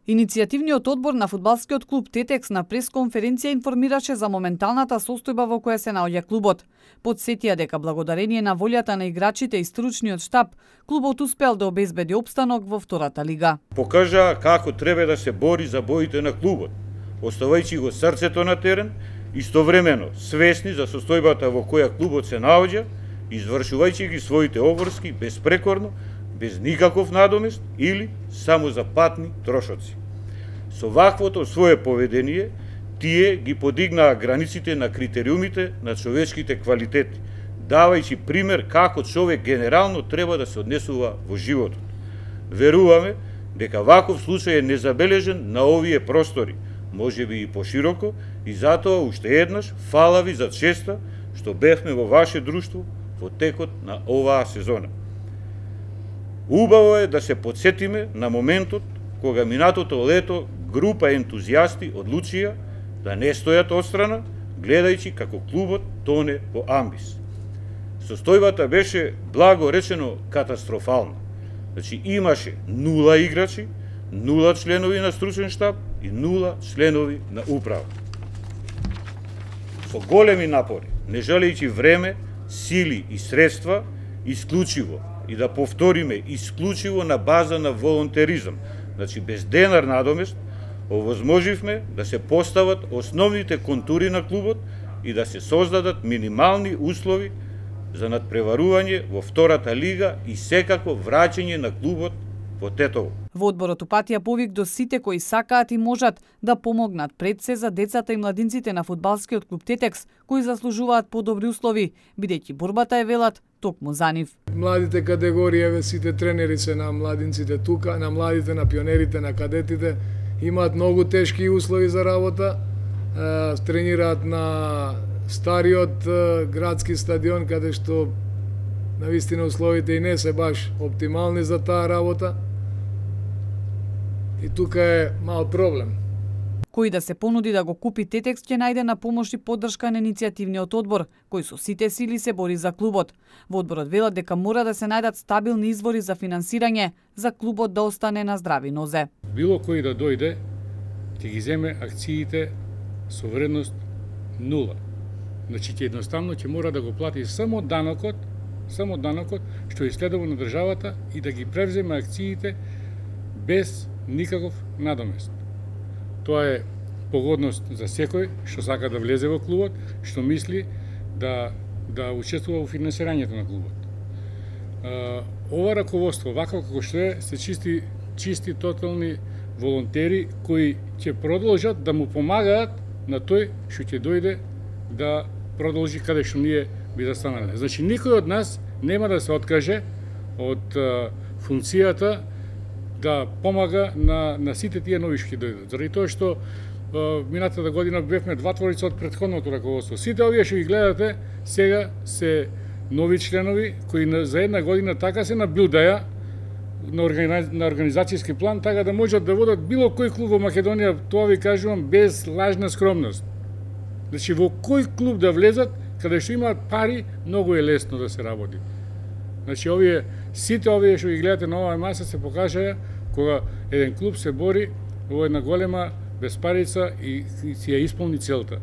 Иницијативниот одбор на фудбалскиот клуб Тетекс на пресконференција информираше за моменталната состојба во која се наоѓа клубот. Потсетија дека благодарение на волјата на играчите и стручниот штаб, клубот успел да обезбеди опстанок во втората лига. Покажа како треба да се бори за боите на клубот, оставајќи го срцето на терен, истовремено свесни за состојбата во која клубот се наоѓа, извршувајќи ги своите обврски безпрекорно, без никаков надомест или само за патни трошоци. Со ваквото свое поведение, тие ги подигнаа границите на критериумите на човечките квалитети, давајќи пример како човек генерално треба да се однесува во животот. Веруваме дека ваков случај е незабележен на овие простори, можеби и пошироко, и затоа уште еднаш фала ви за честа што бевме во ваше друштво во текот на оваа сезона. Убаво е да се подсетиме на моментот кога минатото лето група ентузијасти одлучија да не стојат отстрана, гледајќи како клубот тоне во амбис. Состојбата беше, благо речено, катастрофална. Значи имаше 0 играчи, 0 членови на стручен штаб и 0 членови на управа. Со големи напори, не жалејќи време, сили и средства, исклучиво, и да повториме, исклучиво на база на волонтеризам, значи без денар надомест, овозможивме да се постават основните контури на клубот и да се создадат минимални услови за надпреварување во втората лига и секако враќање на клубот во Тетово. Во одборот упатија повик до сите кои сакаат и можат да помогнат пред се за децата и младинците на фудбалскиот клуб Тетекс, кои заслужуваат подобри услови, бидејќи борбата е, велат, токму за нив. Младите категории, сите тренери се на младинците тука, на младите, на пионерите, на кадетите, имаат многу тешки услови за работа, тренираат на стариот градски стадион, каде што навистина условите и не се баш оптимални за таа работа. И тука е мал проблем. Кој да се понуди да го купи Тетекс ќе најде на помош и поддршка на иницијативниот одбор, кој со сите сили се бори за клубот. Во одборот велат дека мора да се најдат стабилни извори за финансирање за клубот да остане на здрави нозе. Било кој да дојде, ќе ги земе акциите со вредност 0. Значи ќе едноставно ќе мора да го плати само данокот што е следува на државата и да ги превземе акциите без никаков надомест. Тоа е погодност за секој што сака да влезе во клубот, што мисли да учествува во финансирањето на клубот. Ова раководство, вакво како што е, се чисти тотални волонтери кои ќе продолжат да му помагаат на тој што ќе дојде да продолжи каде што ние би застанале. Значи, никој од нас нема да се откаже од функцијата да помага на сите тие нови што ќе дојдат. Заради тоа што минатата година бевме дватворица од претходното раководство. Сите овие што ги гледате сега се нови членови кои за една година така се набилдаја на организацијски план, така да можат да водат било кој клуб во Македонија, тоа ви кажувам без лажна скромност. Значи, во кој клуб да влезат, каде што имаат пари, многу е лесно да се работи. Значи, сите овие што ги гледате на оваа маса се покажаа кога еден клуб се бори во една голема безпарица и си ја исполни целта.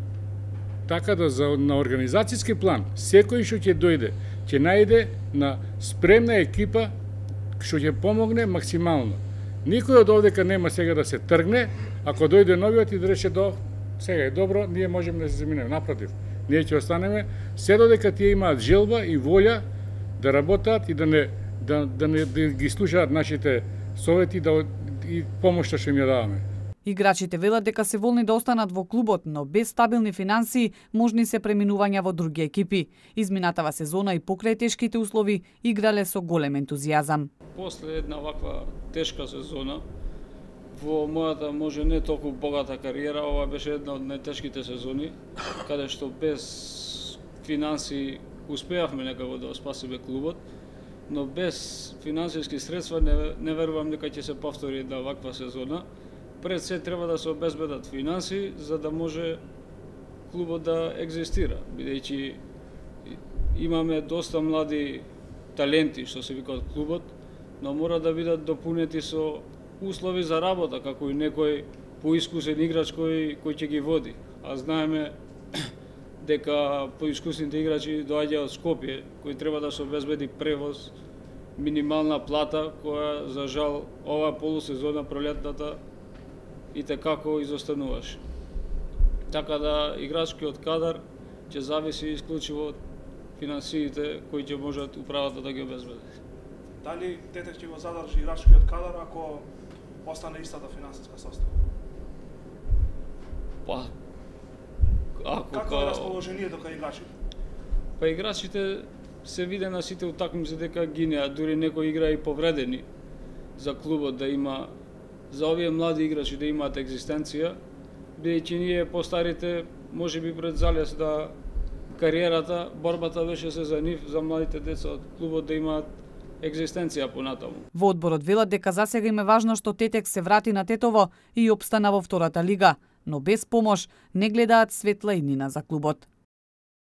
Така да на организацијски план, секој што ќе дојде, ќе најде на спремна екипа што ќе помогне максимално. Никој од овдека нема сега да се тргне, ако дојде новиот и да рече сега е добро, ние можеме да се заминеме. Напротив, ние ќе останеме се додека тие имаат желба и волја да работат и да не ги слушаат нашите совети и помошта што им ја даваме. Играчите велат дека се волни да останат во клубот, но без стабилни финансии можни се преминувања во други екипи. Изминатава сезона и покрај тешките услови играле со голем ентузијазам. После една ваква тешка сезона, во мојата може не толку богата кариера, ова беше една од најтешките сезони, каде што без финанси успеавме некако да спасиме клубот, но без финансиски средства не верувам дека ќе се повтори една ваква сезона. Пред се треба да се обезбедат финанси за да може клубот да екзистира, бидејќи имаме доста млади таленти што се викаат клубот, но мора да бидат допунети со услови за работа, како и некој поискусен играч кој ќе ги води. А знаеме дека поискусните играчи доаѓаат од Скопје, кој треба да се обезбеди превоз, минимална плата, која за жал оваа полусезона пролетната и текако изостануваше. Така да играчкиот кадар ќе зависи исклучиво од финансиите кои ќе можат управата да ги обезбеди. Дали Тетек ќе го задржи играчкиот кадар ако остане истата финансиска состава? Па, Какво е расположението кај играчите? Па играчите се виде на сите утакмици дека гинеа, дури некои игра и повредени за клубот да има, за овие млади играчи да имаат екзистенција, бидејќи ние постарите можеби пред залез да кариерата, борбата беше се за нив, за младите деца од клубот да имаат екзистенција понатаму. Во одборот велат дека засега им е важно што Тетек се врати на Тетово и опстана во втората лига, но без помош не гледаат светла иднина за клубот.